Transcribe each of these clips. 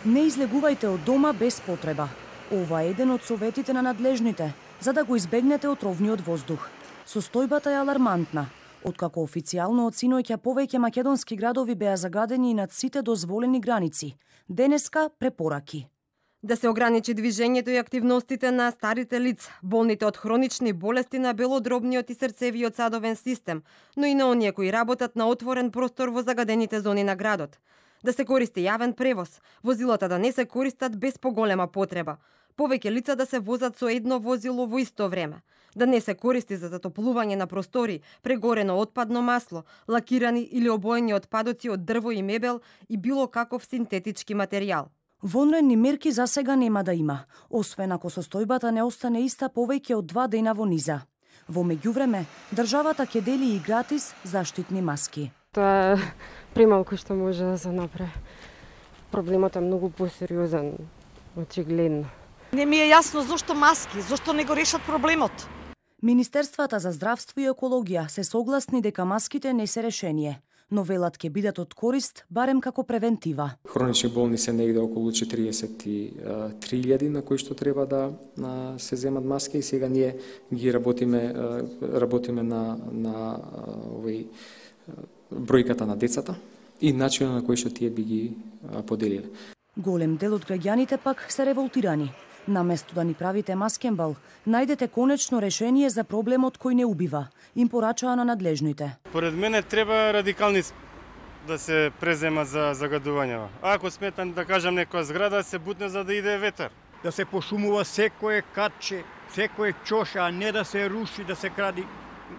Не излегувајте од дома без потреба. Ова е еден од советите на надлежните, за да го избегнете отровниот воздух. Состојбата е алармантна. Откако официјално од синоќа повеќе македонски градови беа загадени и над сите дозволени граници, денеска препораки. Да се ограничи движењето и активностите на старите лица, болните од хронични болести на белодробниот и срцевиот садовен систем, но и на оние кои работат на отворен простор во загадените зони на градот. Да се користи јавен превоз, возилата да не се користат без поголема потреба, повеќе лица да се возат со едно возило во исто време, да не се користи за затоплување на простори прегорено отпадно масло, лакирани или обоени отпадоци од дрво и мебел и било каков синтетички материјал. Вонредни мерки за сега нема да има, освен ако состојбата не остане иста повеќе од 2 дена во низа. Во меѓувреме, државата ќе дели и гратис заштитни маски. Тоа е премалку што може да се направи. Проблемот е многу посериозен, очигледно. Не ми е јасно зошто маски, зошто не го решат проблемот. Министерствата за здравство и екологија се согласни дека маските не се решение, но велат ќе бидат од корист барем како превентива. Хронични болни се негде околу 43.000 на кои што треба да се земат маски и сега ние ги работиме на овој бројката на децата и начинот на кој што тие би ги поделиле. Голем дел од граѓаните пак се револтирани. Наместо да ни правите маскенбал, најдете конечно решение за проблемот кој не убива, им порачаа на надлежните. Поред мене треба радикални да се презема за загадувањето. Ако сметам да кажам некоја зграда се бутне за да иде ветер. Да се пошумува секое катче, секое чоша, а не да се руши, да се кради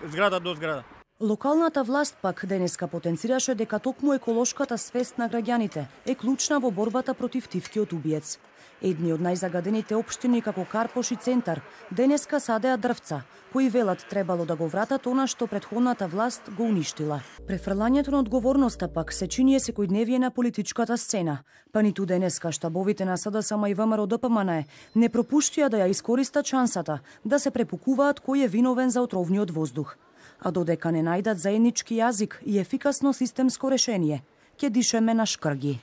зграда до зграда. Локалната власт пак денеска потенцираше дека токму еколошката свест на граѓаните е клучна во борбата против тивкиот убиец. Едни од најзагадените општини како Карпош и Центар денеска садеа дрвца, кои велат требало да го вратат она што претходната власт го уништила. Префрлањето на одговорноста пак се чини секојдневие на политичката сцена, па ниту денеска штабовите на СДСМ и ВМРО ДПМН не пропуштија да ја искористат шансата да се препукуваат кој е виновен за отровниот воздух. А додека не најдат заеднички јазик и ефикасно системско решение, ќе дишеме на шкрги.